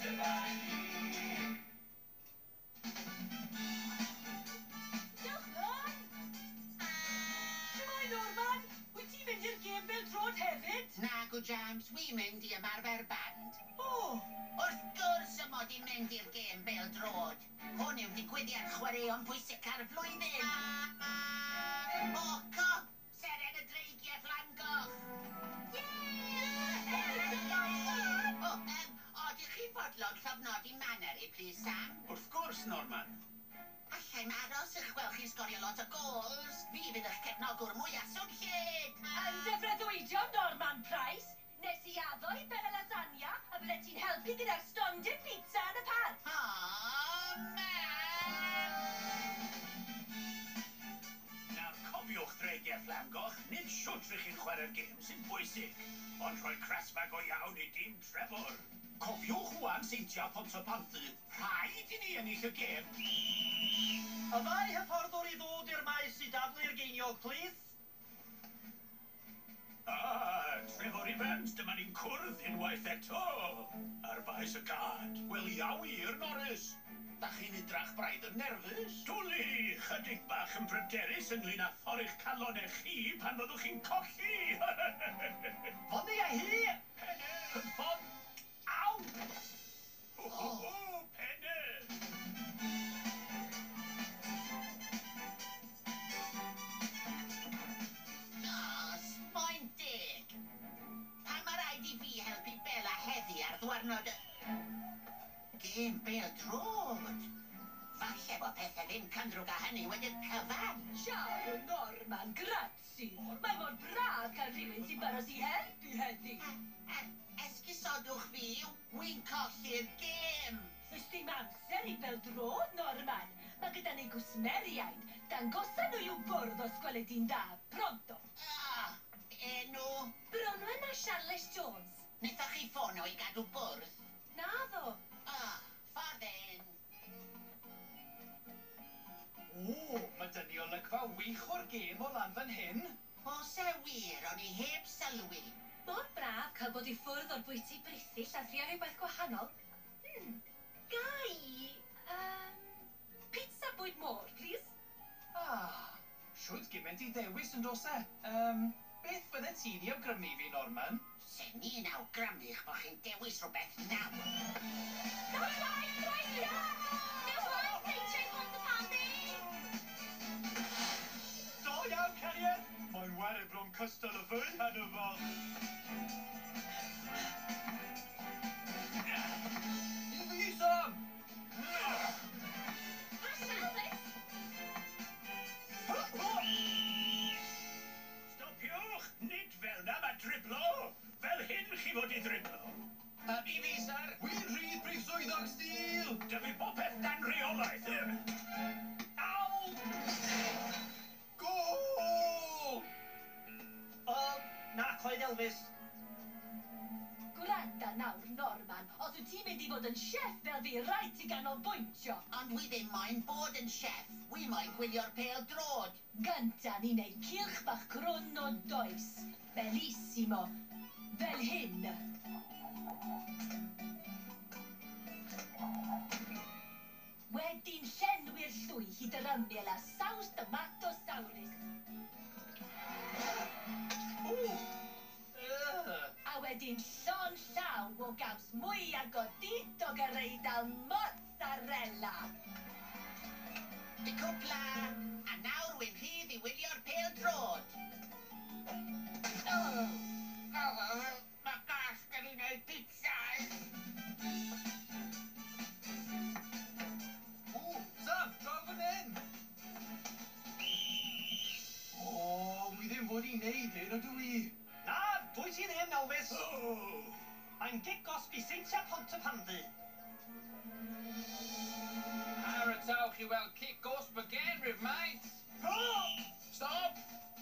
Dyma ni. Diolch, Lon! Shwmae, Norman? Wyt ti'n mynd i'r gêm bêl-droed hefyd? Nagw James, wi'n mynd i ymarfer band. O! Wrth gwrs y mod i'n mynd i'r gêm bêl-droed. Hwn yw digwyddiad chwaraeon pwysica'r flwyddyn. O, co! Seren y Dreigiau Fflamgoch! O, odych chi'n fodlon llofnodi maneri, please, Sam? Wrth gwrs, Norman. Allai'm aros i'ch gweld chi'n sgorio lot o gols. Fi fydd eich cefnogwr mwyaf swnllyd. Yn dy freuddwydion, Norman Price, nes i addo i Bella Lasagna a bydde ti'n helpu gyda'r stondin pizza yn y parc. O, mam! Nawr cofiwch Dreigiau Fflamgoch, nid shwt rych chi'n chwarae'r gêm sy'n bwysig, ond rhoi crasfa go iawn i dîm Trefor. Cofiwch wan Seintiau Pontypandy, rhaid i ni ennill y gêm. Y ddau hyfforddwr i ddod i'r maes i daflu'r geiniog, plîs. Ah, Trefor Evans, dyma ni'n cwrdd unwaith eto ar faes y gad. Wel, ia wir, Norris. Da chi'n edrach braidd yn nerfus. Dwli, chydig bach yn bryderus ynglyn â thorri'ch calonau chi pan fyddwch chi'n colli. Fyny â hi! Penne! Cynffon! Aw! Ho, ho, ho, penne! Na, smoen deg. Pam mae rhaid i fi helpu Bella heddi ar ddwarnod y gêm bêl-droed? Falle bod pethau ddim cynddrwg â hynny wedi'r cyfan. Ciao, Norman, grazie. Mae mor braf cael rhywun sy'n barod i helpu heddi. Esgusodwch fi, wi'n colli'r gêm. Does dim amser i bêl-droed, Norman. Mae gyda ni gwsmeriaid. Dangosa nhw i'w bwrdd os gweli di'n dda. Pronto. Ah, enw? Bronwen a Charles Jones. Wnaethoch chi ffono i gadw bwrdd? Naddo. Ah, ffordd in. O, mae 'da ni olygfa wych o'r gêm o lan fan hyn. Oes e wir, o'n i heb sylwi. Mor braf cael bod i ffwrdd o'r bwyty brithyll a thrio rhywbeth gwahanol. Ga i pizza bwyd môr, please? Ah, shwd gymaint i ddewis yn does e? Beth fydde ti'n ei awgrymu i fi, Norman? Sen ni'n awgrymu eich bod chi'n dewis rhywbeth nawr. Nos waith, Dreigiau! Nos waith, Seintiau Pontypandy! Do iawn, cariad! Mae'n ware bron cystal â fi heno fo. I fi, Sam! Pass Elvis! Stopiwch! Nid fel na mae driblo! Fel hyn chi fod i driblo. I fi, sir! Wy'n rhydd, brif swyddog Steel! Dyfu bopeth dan reolaeth. Aw! Gôl! O, na, coed Elvis. Gwranda nawr, Norman. Os wyt ti'n mynd i fod yn chef fel fi, rhaid ti ganolbwyntio. Ond wi ddim moyn bod yn chef. Wi moyn gwylio'r pêl droed. Gynta ni'n neud cylch bach crwn o does. Bellissimo. Fel hyn. Wedyn llenwi'r llwy hyd yr ymyl â saws tomato sawrus. A wedyn llon llaw o gaws mwyaf godidog yr Eidal mozzarella. Di cwpla, a nawr wy'n rhydd i wylio'r pêl droed. Mae gas gen i wneud pizzas. O, Sam, draw fan hyn! O, wi ddim fod i wneud hyn, ydw i? Na, dwi ti ddim, Elvis. Oh. Mae'n gic gosb i Seintiau Pontypandy. Paratowch i weld cic gosb again, rhyw mates. Stop!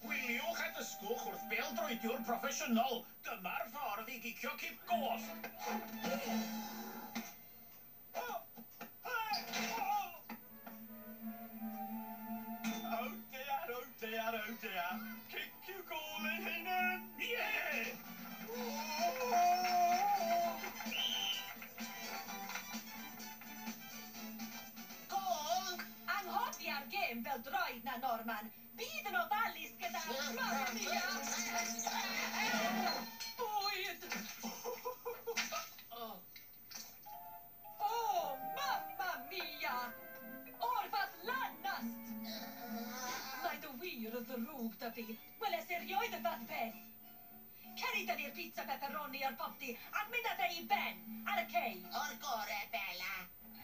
Gwyliwch a dysgwch wrth bêl-droediwr proffesiynol. Dyma'r ffordd i gicio cic gosb. Oh dear, oh dear, oh dear. Cic yw gôl ei hunan. Ie! Oh! gêm bêl-droed 'na, Norman. Bydd yn ofalus gyda... Mamma mia! Bwyd! O, mamma mia! O'r fath lanast! Mae dy wir y ddrwg 'da fi. Weles i erioed y fath peth. Cer i dynnu'r pizza pepperoni o'r popty a mynd â fe i Ben ar y cei. O'r gore, Bella.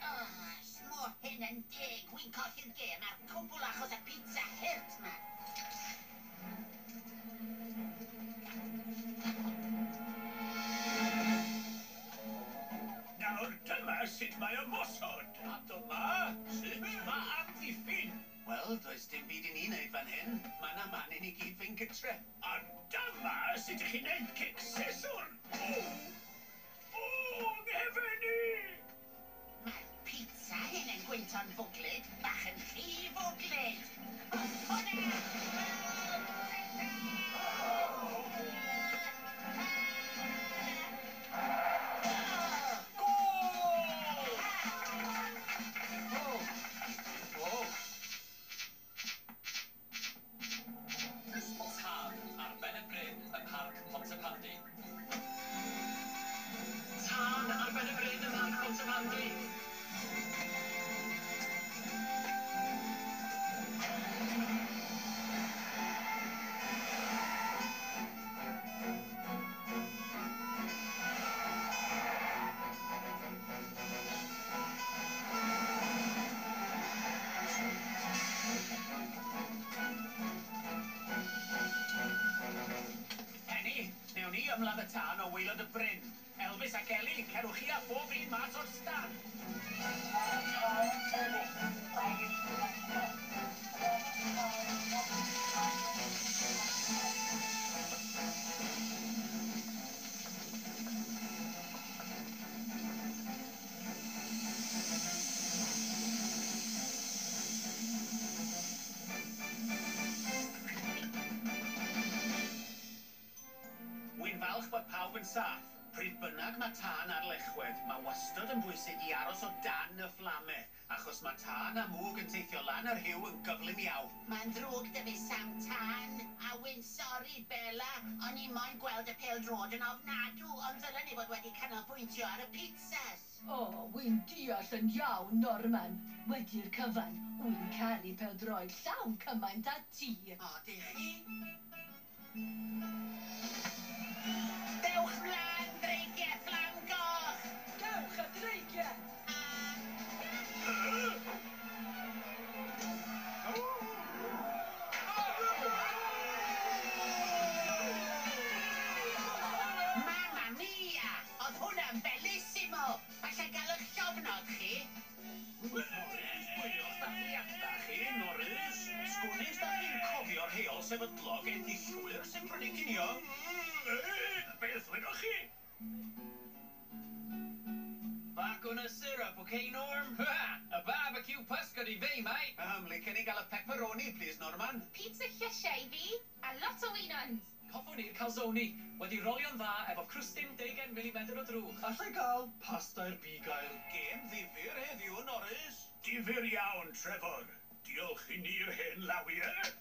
Oh, smo hyn yn deg. Wi'n colli'r gêm a'r cwbl achos y pizza hurt 'ma. Nawr dyma sut mae ymosod. A dyma sut mae amddiffyn. Wel, does dim byd i ni wneud fan hyn. Mae 'na man i ni gyd fynd gytre. A dyma sut ych chi'n neud cic siswrn. O! O, nghefen i! Mae'r pizza hyn yn gwynto'n fwglyd, bach yn rhy fwglyd. O, o na! Gôl! O! O! Tân ar ben y bryn ym Mharc Pontypandy. Tân ar ben y bryn ym Mharc Pontypandy. Penny, newn ni ymladd y tân o waelod y bryn. Elvis ac Ellie, cerwch chi a phob un mas o'r stand. Wy'n falch bod pawb yn saff. Pryd bynnag mae tân ar lechwedd, mae wastod yn bwysig i aros o dan y fflame, achos mae tân a mwg yn teithio lan yr rhiw yn gyflym iawn. Mae'n ddrwg 'da fi Sam Tân, a wy'n sori Bella, o'n i moyn gweld y pêl-droed yn ofnadw, ond ddylen ni fod wedi canolbwyntio ar y pizzas. O, wy'n deall yn iawn, Norman. Wedi'r cyfan, wy'n caru pêl-droed llawn cymaint â ti. O, dych chi? Dewch mlaen, dreigiau fflam goch! Dewch y dreigiau! Mamma mia! Oedd hwnna'n bellissimo! Falle gael eich llofnod chi? Pwylwch dathliadau chi, Norris. Sgwnis da chi'n cofio'r rheol sefydlog enillwyr sy'n prynu cinio. Beth wedoch chi? Back on a syrup, okay, Norm? A barbecue pysgod i fi, mate. Licen i gael y pepperoni, please, Norman. Pizza llysiau i fi, a lot o winons. Hoffwn i'r calzone, wedi rolio'n dda efo crwstyn 20 mm o drwch. Allai gael pasta i'r bugail. Gêm ddifyr heddiw, Norris. Difyr iawn, Trevor. Diolch i ni'r hen lawiau.